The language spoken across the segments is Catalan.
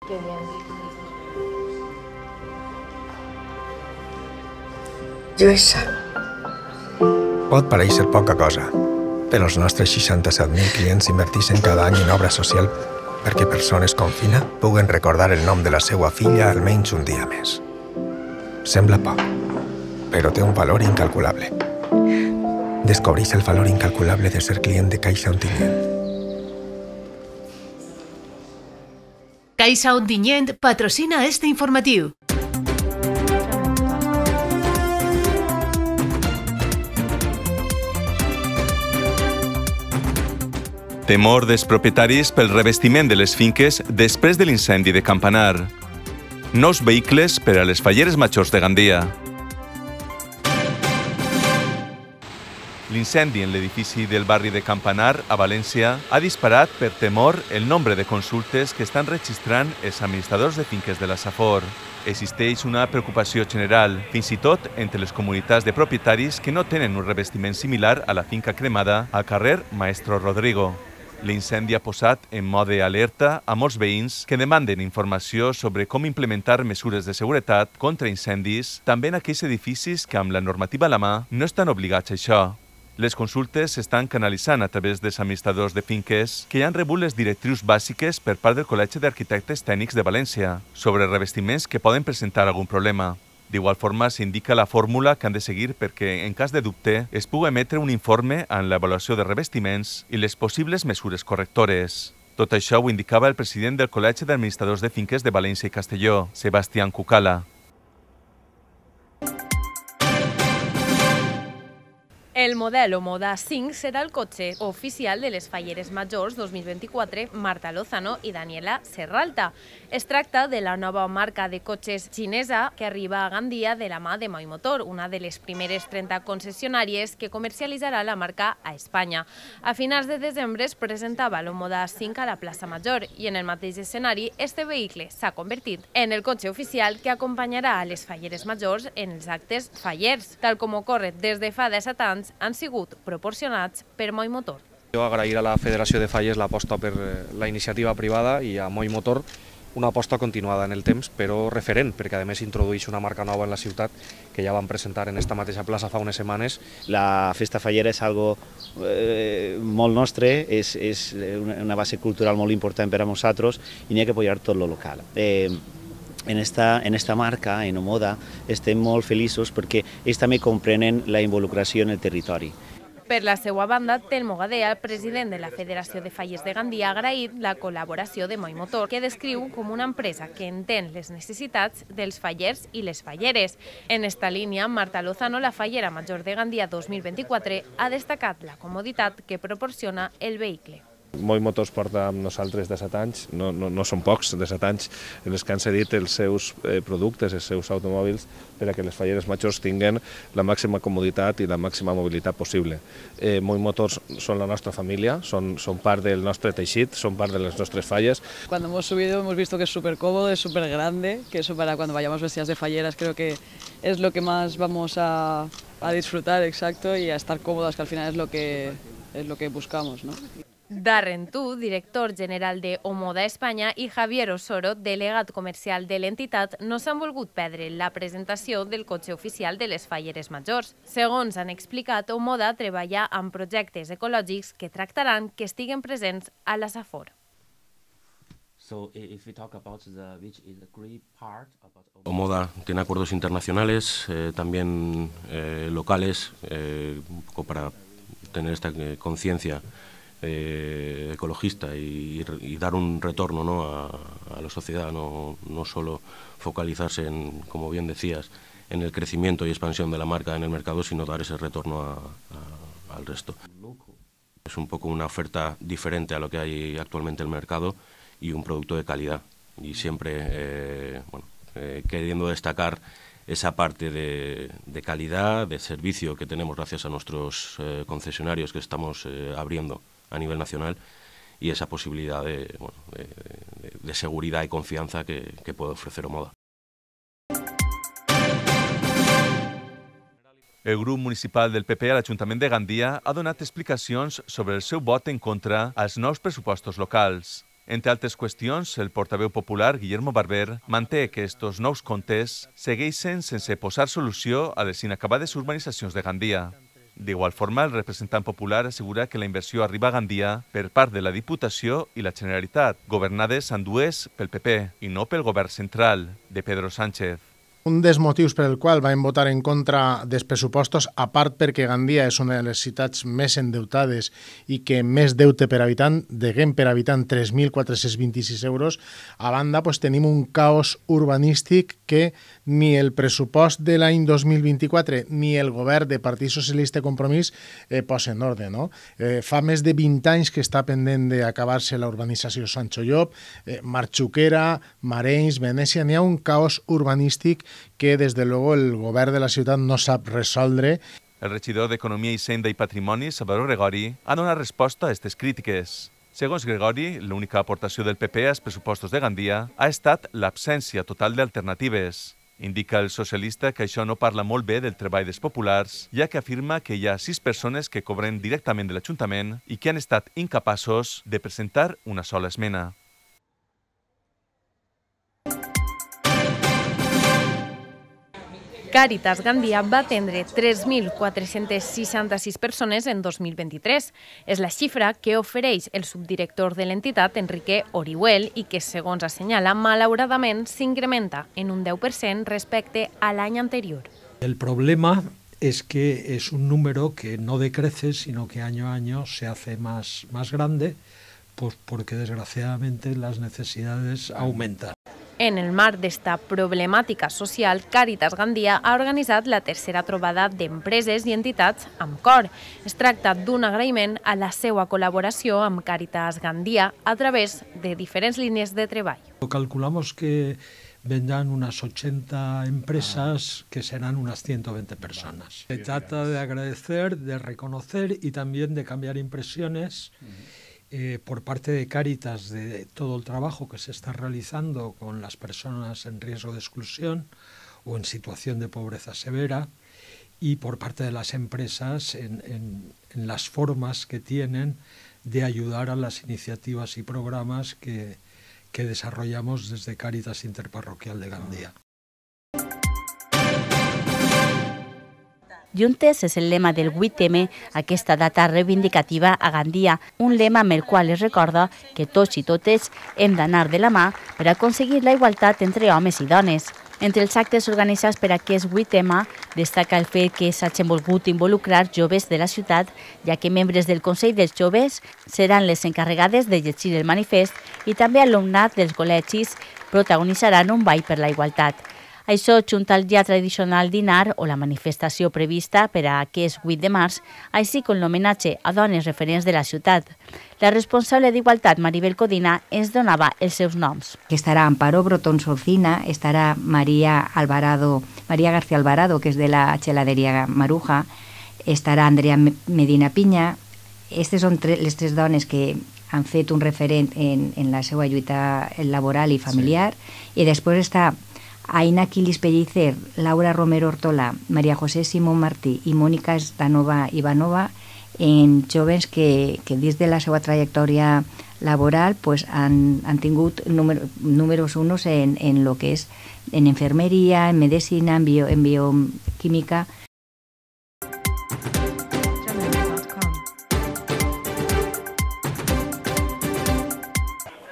Qué bien. Lluïsa. Pot parèixer poca cosa, però els nostres 67.000 clients inverteixen cada any en obra social perquè persones com Fina puguen recordar el nom de la seva filla almenys un dia més. Sembla poc, però té un valor incalculable. Descobreix el valor incalculable de ser client de Caixa Ontinyent. Caixa Ontinyent patrocina este informatiu. Temor dels propietaris pel revestiment de les finques després de l'incendi de Campanar. Nous vehicles per a les falleres majors de Gandia. L'incendi en l'edifici del barri de Campanar, a València, ha disparat per temor el nombre de consultes que estan registrant els administradors de finques de la Safor. Existeix una preocupació general, fins i tot entre les comunitats de propietaris que no tenen un revestiment similar a la finca cremada al carrer Maestro Rodrigo. L'incendi ha posat en mode alerta a molts veïns que demanden informació sobre com implementar mesures de seguretat contra incendis, també en aquells edificis que amb la normativa a la mà no estan obligats a això. Les consultes s'estan canalitzant a través dels administradors de finques que ja han rebut les directrius bàsiques per part del Col·legi d'Arquitectes Tècnics de València sobre revestiments que poden presentar algun problema. D'igual forma, s'indica la fórmula que han de seguir perquè, en cas de dubte, es pugui emetre un informe en l'avaluació de revestiments i les possibles mesures correctores. Tot això ho indicava el president del Col·legi d'Administradors de Finques de València i Castelló, Sebastián Cucala. El Modelo Moda 5 serà el cotxe oficial de les Falleres Majors 2024 Marta Lozano i Daniela Serralta. Es tracta de la nova marca de cotxes xinesa que arriba a Gandia de la mà de Moi Motor, una de les primeres 30 concessionàries que comercialitzarà la marca a Espanya. A finals de desembre es presentava el Moda 5 a la plaça Major i en el mateix escenari este vehicle s'ha convertit en el cotxe oficial que acompanyarà a les Falleres Majors en els actes fallers, tal com ocorre des de fa 17 anys han sigut proporcionats per Moi Motor. Jo agrair a la Federació de Falles l'aposta per la iniciativa privada i a Moi Motor una aposta continuada en el temps, però referent, perquè a més introdueix una marca nova en la ciutat que ja vam presentar en esta mateixa plaça fa unes setmanes. La festa fallera és algo molt nostre, és una base cultural molt important per a nosaltres i n'hi ha que apoyar tot lo local. En esta marca, en Omoda, estem molt feliços perquè ells també comprenen la involucració en el territori. Per la seva banda, Telmo Gadea, el president de la Federació de Falles de Gandia, ha agraït la col·laboració de Moi Motor, que descriu com una empresa que entén les necessitats dels fallers i les falleres. En esta línia, Marta Lozano, la fallera major de Gandia 2024, ha destacat la comoditat que proporciona el vehicle. Moi Motors porta amb nosaltres 17 anys, no són pocs, 17 anys en els que han cedit els seus productes, els seus automòbils, per a que les falleres majors tinguin la màxima comoditat i la màxima mobilitat possible. Moi Motors són la nostra familia, son part del nostre teixit, son part de les nostres falles. Cuando hemos subido hemos visto que es súper cómodo, es súper grande, que eso para cuando vayamos vestidas de falleras creo que es lo que más vamos a disfrutar, exacto, y a estar cómodas, que al final es lo que buscamos, ¿no? Darren Tu, director general de Omoda Espanya, i Javier Osoro, delegat comercial de l'entitat, no s'han volgut perdre la presentació del cotxe oficial de les Falleres Majors. Segons han explicat, Omoda treballa amb projectes ecològics que tractaran que estiguen presents a la Safor. Omoda tiene acuerdos internacionales, también locales, un poco para tener esta conciencia ecologista y dar un retorno, ¿no?, a la sociedad, no solo focalizarse en, como bien decías, en el crecimiento y expansión de la marca en el mercado, sino dar ese retorno al resto. Es un poco una oferta diferente a lo que hay actualmente en el mercado y un producto de calidad, y siempre queriendo destacar esa parte de calidad, de servicio que tenemos gracias a nuestros concesionarios que estamos abriendo a nivel nacional, y esa posibilidad de seguridad y confianza que puede ofrecer Omoda. El grup municipal del PP a l'Ajuntament de Gandia ha donat explicacions sobre el seu vot en contra als nous pressupostos locals. Entre altres qüestions, el portaveu popular Guillermo Barber manté que estos nous comptes segueixen sense posar solució a les inacabades urbanitzacions de Gandia. D'igual forma, el representant popular assegura que la inversió arriba a Gandia per part de la Diputació i la Generalitat, governades ambdues pel PP i no pel govern central de Pedro Sánchez. Un dels motius per el qual vam votar en contra dels pressupostos, a part perquè Gandia és una de les ciutats més endeutades i que més deute per habitant, deguem per habitant 3.426 euros, a banda tenim un caos urbanístic que ni el pressupost de l'any 2024 ni el govern de Partit Socialista i Compromís posa en ordre. No? Fa més de 20 anys que està pendent d'acabar-se la urbanització Sancho Llop, Marxuquera, Marenys, Venècia, n'hi ha un caos urbanístic que des de luego el govern de la ciutat no sap resoldre. El regidor d'Economia, Hisenda i Patrimoni, Salvador Gregori, ha donat resposta a aquestes crítiques. Segons Gregori, l'única aportació del PP als pressupostos de Gandia ha estat l'absència total d'alternatives. Indica el socialista que això no parla molt bé del treball dels populars, ja que afirma que hi ha 6 persones que cobren directament de l'Ajuntament i que han estat incapaços de presentar una sola esmena. Càritas Gandia va atendre 3.466 persones en 2023. És la xifra que ofereix el subdirector de l'entitat, Enrique Orihuel, i que, segons assenyala, malauradament s'incrementa en un 10% respecte a l'any anterior. El problema es que es un número que no decrece, sino que año a año se hace más grande, pues porque desgraciadamente las necesidades aumentan. En el marc d'esta problemàtica social, Càritas Gandia ha organitzat la tercera trobada d'empreses i entitats amb cor. Es tracta d'un agraïment a la seva col·laboració amb Càritas Gandia a través de diferents línies de treball. Calculamos que vendrán unas 80 empresas que serán unas 120 personas. Se trata de agradecer, de reconocer y también de cambiar impresiones por parte de Càritas de todo el trabajo que se está realizando con las personas en riesgo de exclusión o en situación de pobreza severa, y por parte de las empresas en las formas que tienen de ayudar a las iniciativas y programas que desarrollamos desde Càritas Interparroquial de Gandia. Juntes és el lema del 8M, aquesta data reivindicativa a Gandia, un lema amb el qual es recorda que tots i totes hem d'anar de la mà per aconseguir la igualtat entre homes i dones. Entre els actes organitzats per aquest 8M destaca el fet que s'hagin volgut involucrar joves de la ciutat, ja que membres del Consell dels Joves seran les encarregades de llegir el manifest i també alumnat dels col·legis protagonitzaran un ball per la igualtat. Això junt al ja tradicional dinar o la manifestació prevista per a aquest 8 de març, així com l'homenatge a dones referents de la ciutat. La responsable d'Igualtat, Maribel Codina, ens donava els seus noms. Estarà Amparo Brotón Solcina, estarà María García Alvarado, que és de la Geladería Maruja, estarà Andrea Medina Piña. Aquestes són les 3 dones que han fet un referent en la seva lluita laboral i familiar. I després està Aina Quilis Pellicer, Laura Romero Ortola, María José Simón Martí i Mónica Stanova Ivanova, en joves que dins de la seva trajectòria laboral han tingut números unos en lo que és en enfermería, en medicina, en bioquímica.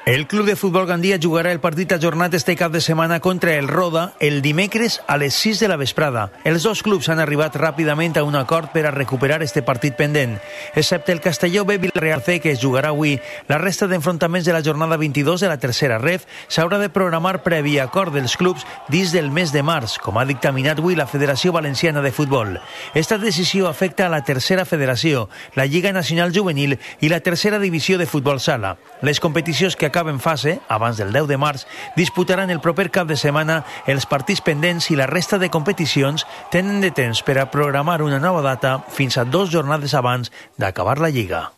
El Club de Futbol Gandia jugarà el partit ajornat este cap de setmana contra el Roda el dimecres a les 6 de la vesprada. Els dos clubs han arribat ràpidament a un acord per a recuperar este partit pendent. Excepte el Castelló B Villarreal C, que es jugarà avui, la resta d'enfrontaments de la jornada 22 de la tercera ref s'haurà de programar previ acord dels clubs dins del mes de març, com ha dictaminat avui la Federació Valenciana de Futbol. Esta decisió afecta a la tercera federació, la Lliga Nacional Juvenil i la tercera divisió de futbol sala. Les competicions que acaben fase, abans del 10 de març, disputaran el proper cap de setmana els partits pendents i la resta de competicions tenen de temps per a programar una nova data fins a 2 jornades abans d'acabar la Lliga.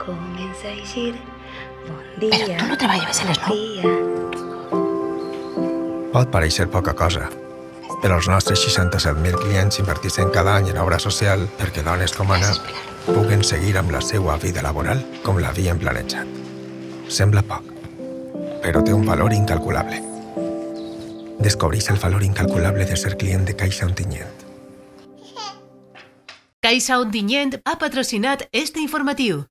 comença a eixir. Bon dia. Però tu no treballaves a les 9. Pot pareixer poca cosa, però els nostres 67.000 clients inverteixen cada any en obra social perquè dones com Anna puguen seguir amb la seva vida laboral com l'havien planejat. Sembla poc, però té un valor incalculable. Descobreix el valor incalculable de ser client de Caixa Ontinyent. Caixa Ontinyent ha patrocinat este informatiu.